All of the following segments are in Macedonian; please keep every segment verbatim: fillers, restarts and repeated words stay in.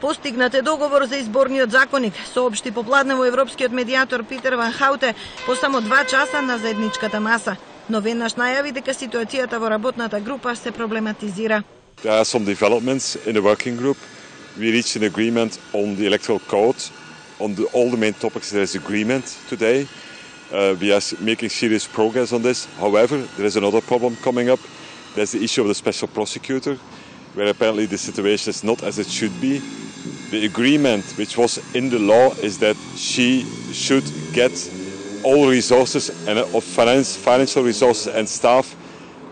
Постигнат е договор за изборниот законник, соопшти попладне во европскиот медијатор Питер Ван Хаутен по само два часа на заедничката маса. Но веднаш најави дека ситуацијата во работната група се проблематизира. There are some developments in the working group. We reached an agreement on the electoral code. On the, all the main topics there is agreement today. Uh, we are making serious progress on this. However, there is another problem coming up. There's the issue of the special prosecutor, where apparently the situation is not as it should be. The agreement which was in the law is that she should get all resources and of finance, financial resources and staff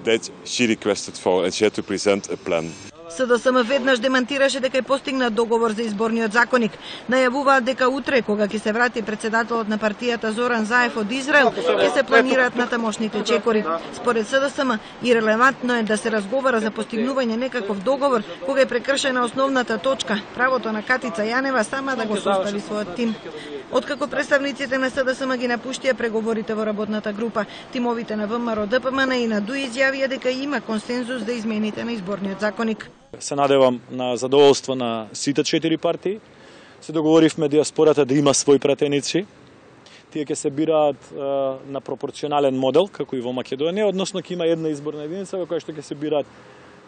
that she requested for, and she had to present a plan. СДСМ веднаш демантираше дека е постигнат договор за изборниот законник. Најавуваат дека утре, кога ќе се врати председателот на партијата Зоран Заев од Израел, ќе се планираат натамошните чекори. Според СДСМ, ирелевантно е да се разговара за постигнување некаков договор кога е прекршена основната точка, правото на Катица Јанева сама да го состави својот тим. Откако представниците на СДСМ ги напуштија преговорите во работната група, тимовите на ВМРО, ДПМН и на ДУ изјавија дека има консензус за измените на изборниот законник. Се надевам на задоволство на сите четири партии. Се договоривме диаспората да има своји пратеници. Тие ќе се бираат е, на пропорционален модел, како и во Македонија, односно ќе има една изборна единица во која што ќе се бираат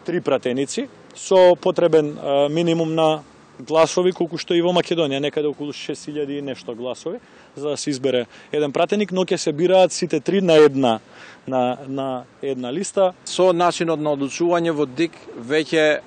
три пратеници со потребен е, минимум на гласови, колку што и во Македонија, некаде околу шест илјади и нешто гласови, за да се избере еден пратеник, но ќе се бираат сите три на една на на една листа. Со начинот на одлучување во ДИК веќе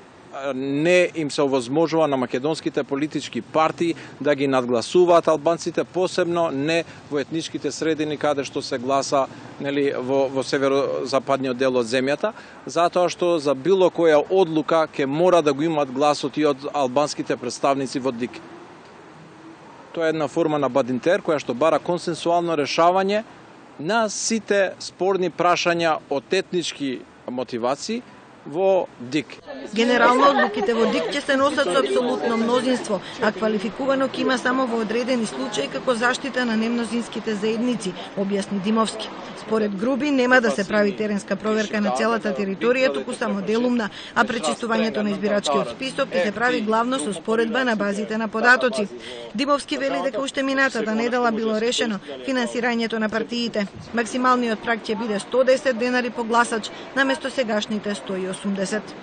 не им се овозможува на македонските политички партии да ги надгласуваат албанците, посебно не во етничките средини каде што се гласа, нели, во, во северозападниот дел од земјата, затоа што за било која одлука ќе мора да го имаат гласот и од албанските представници во ДИК. Тоа е една форма на бадинтер која што бара консенсуално решавање на сите спорни прашања од етнички мотивации во ДИК. Генерално одлуките во ДИК ќе се носат со апсолутно мнозинство, а квалификувано ќе има само во одредени случаи како заштита на немнозинските заедници, објасни Димовски. Според Груби нема да се прави теренска проверка на целата територија, туку само делумна, а пречистувањето на избирачкиот список ќе се прави главно со споредба на базите на податоци. Димовски вели дека уште минатата недела било решено финансирањето на партиите. Максималниот праг ќе биде сто десет денари по гласач наместо сегашните сто и осумдесет.